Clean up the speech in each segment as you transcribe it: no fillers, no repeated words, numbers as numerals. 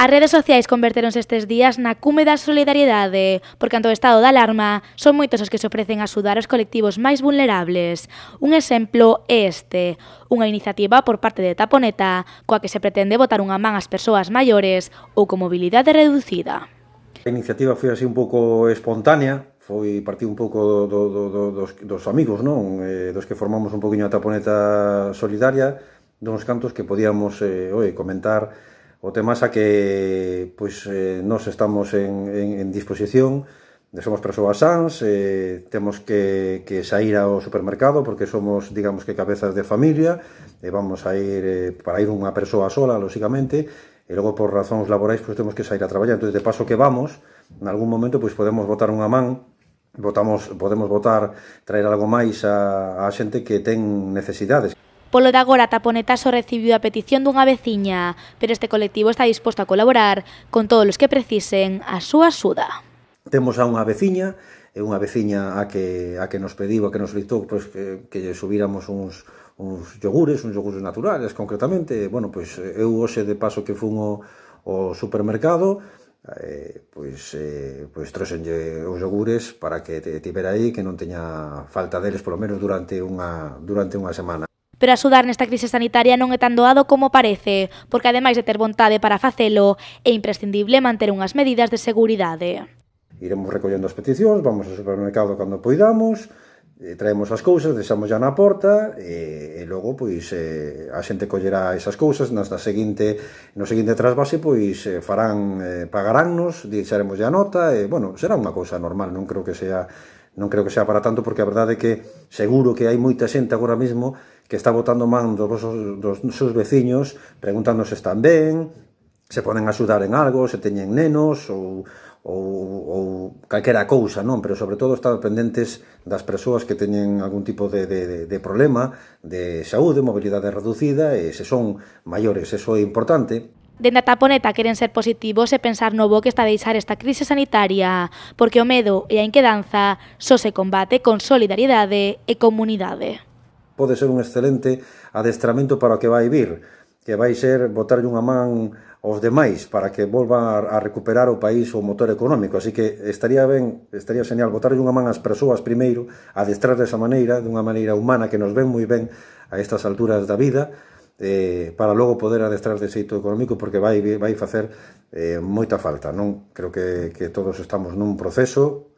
As redes sociais convertéronse estes días na cume da solidariedade, porque ante o estado de alarma son moitos os que se ofrecen a axudar aos colectivos máis vulnerables. Un exemplo é este, unha iniciativa por parte de Taponeta, coa que se pretende botar unha man ás persoas maiores ou con mobilidade reducida. A iniciativa foi así un pouco espontánea, partiu un pouco dos amigos, non? Dos que formamos un poquinho a Taponeta Solidaria, duns cantos que podíamos comentar o tema xa que nós estamos en disposición, somos persoas sans, temos que sair ao supermercado porque somos, digamos que cabezas de familia, vamos a ir para ir unha persoa sola, lóxicamente, e logo por razóns laborais temos que sair a traballar. Entón, de paso que vamos, en algún momento podemos botar unha man, podemos botar, traer algo máis a xente que ten necesidades. Polo de agora, Taponeta só recibiu a petición dunha veciña, pero este colectivo está disposto a colaborar con todos os que precisen a súa axuda. Temos a unha veciña a que nos pediu, a que nos solicitou que lle subíramos uns yogures naturales, concretamente. Bueno, eu hoxe de paso que fun ao supermercado, trouxenlle os yogures para que tivera aí, que non teña falta deles, polo menos durante unha semana. Pero axudar nesta crise sanitaria non é tan doado como parece, porque ademais de ter vontade para facelo, é imprescindible manter unhas medidas de seguridade. Iremos recollendo as peticións, vamos ao supermercado cando poidamos, traemos as cousas, deixamos xa na porta e logo a xente collerá esas cousas, no seguinte trasvase pagaránnos, deixaremos a nota e, bueno, será unha cousa normal, non creo que sea para tanto, porque a verdade é que seguro que hai moita xente agora mesmo que está botando man dos seus veciños, preguntando se están ben, se poden axudar en algo, se teñen nenos ou calquera cousa, non? Pero sobre todo estar pendentes das persoas que teñen algún tipo de problema de saúde, mobilidade reducida, e se son maiores, eso é importante. Dende a Taponeta queren ser positivos e pensar no bo que está a deixar esta crise sanitaria, porque o medo e a inquedanza só se combate con solidariedade e comunidade. Pode ser un excelente adestramento para o que vai vir, que vai ser botarlle unha man aos demais para que volva a recuperar o país o motor económico. Así que estaría genial botarlle unha man ás persoas primeiro, adestrar desa maneira, dunha maneira humana que nos ven moi ben a estas alturas da vida, para logo poder adestrar de xeito económico, porque vai facer moita falta, non? Creo que todos estamos nun proceso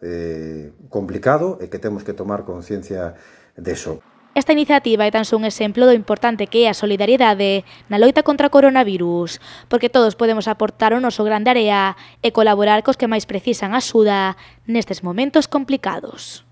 complicado e que temos que tomar conciencia deso. Esta iniciativa é tan só un exemplo do importante que é a solidariedade na loita contra o coronavirus, porque todos podemos aportar o noso grande area e colaborar cos que máis precisan axuda nestes momentos complicados.